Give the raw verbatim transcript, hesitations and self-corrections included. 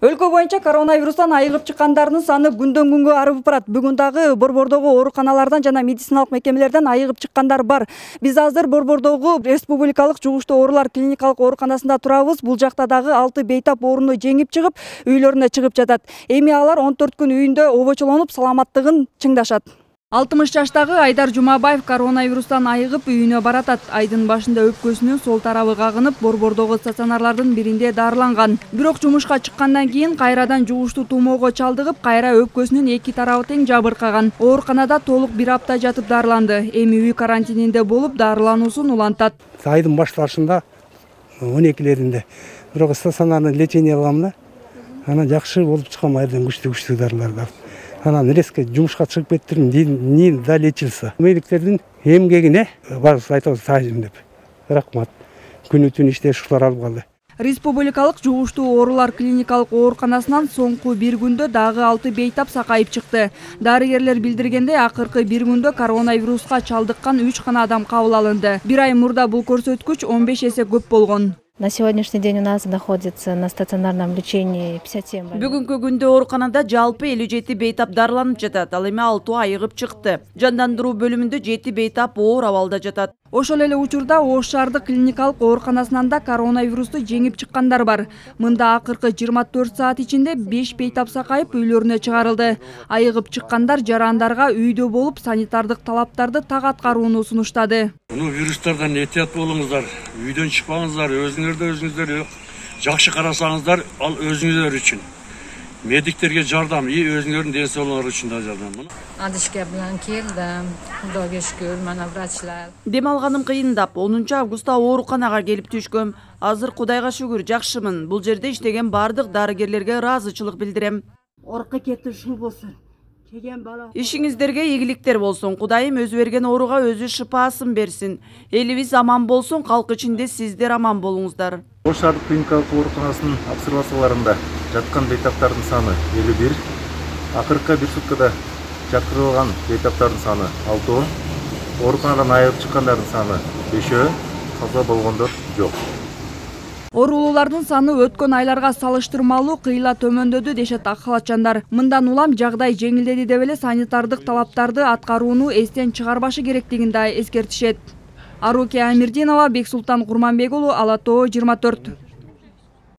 Өлкө боюнча коронавирустан айыгып чыккандардын саны күндөн күнгө арып барат. Бүгүн дагы Борбордогу ооруканалардан жана медициналык мекемелерден айыгып чыккандар бар. Биз азыр Борбордогу Республикалык жугуштуу оорулар клиникалык ооруканасында турабыз. Бул жакта дагы алты бейтап ооруну жеңип чыгып, үйлөрүнө чыгып жатат. Эми алар он төрт күн үйүндө обочолонуп, саламаттыгын чыңдашат. алтымыш жаштагы Айдар Жумабаев коронавирустан айыгып үйүнө баратат. Айдын башында өпкөсүнүн сол тарабы кагынып, Борбордогу стационарлардын биринде дарыланган. Бирок жумушка чыккандан кийин кайрадан жугуштуу тумоого чалдыгып, кайра өпкөсүнүн эки тарабы тең жабыркаган. Ооруканада толук бир апта жатып дарыланды. Эми үй карантининде болуп, дарылануусун улантат. Айдын башташында он экилеринде бирок стационарный лечение алгам да. Анан жакшы болуп чыккан, айдан күчтүү күчтүү дарыларды. Анан резко жумушка чыгып кеттирим, не долечился. Медиктердин эмгегине баарыбыз айтабыз таажим деп. Рахмат. Күнү түн иштеш ушулар алып калды. Республикалык жугуштуу оорулар клиникалык ооруканасынан соңку бир күндө дагы алты бейтап сакайып чыкты. Дарыгерлер билдиргендей, акыркы бир күндө коронавируска чалдыккан үч гана адам кабыл алынды. Бир ай мурда бул көрсөткүч он беш эсе көп болгон. На сегодняшний день у нас находится на стационарном лечении пятьдесят семь больных. Бүгүнкү күндө ооруканада жалпы элүү жети бейтап дарыланып жатат. Ал эми алтоо айыгып чыкты. Жандандыруу бөлүмүндө жети бейтап оор абалда жатат. Ошол эле учурда Ош шаардык клиникалык ооруканасынан да коронавирусту жеңип чыккандар бар. Мында акыркы жыйырма төрт саат ичинде беш бейтап сакайып үйлөрүнө чыгарылды. Айыгып чыккандар жарандарга үйдө болуп санитардык талаптарды так аткарууну сунуштады. Муну вирустардан этият болуңуздар, үйдөн чыкпаңыздар, өзүңөрдү өзүңүздөр жакшы карасаңыздар, ал өзүңүздөр үчүн. Медиктерге жардам, и өзүңөрдүн ден соолугуңар үчүн да жардам. Адышка менен келдим. Кудайга шүкүр, мана врачлар. Дем алганым кыйындап, онунчу августта ооруканага келип түшкөм. Азыр Кудайга шүгүр жакшымын. Бул жерде иштеген бардык дарыгерлерге ыраазычылык билдирем. Орукка кетти ушул болсун. Ишиңиздерге ийгиликтер болсун. Кудайым өзү берген ооруга өзү шыпаасын берсин. Элибиз аман болсун, калк ичинде сиздер аман болуңуздар. Ош шаардык клиникалык ооруканасынын обсервацияларында жаткан бейтаптардын саны элүү бир, акыркы бир суткада жаткырылган бейтаптардын саны алтоо, ооруканадан айыгып чыккандардын саны бешөө, каза болгондор жок. Оорулуулардын саны өткөн айларга салыштырмалуу кыйла төмөндөдү дешет ак халатчандар. Мындан улам жагдай жеңилдеди деп эле санитардык талаптарды аткарууну эстен чыгарбашы керектигин да эскертишет. Аруке Амирдинова, Бексултан Курманбек уулу, Ала Тоо жыйырма төрт.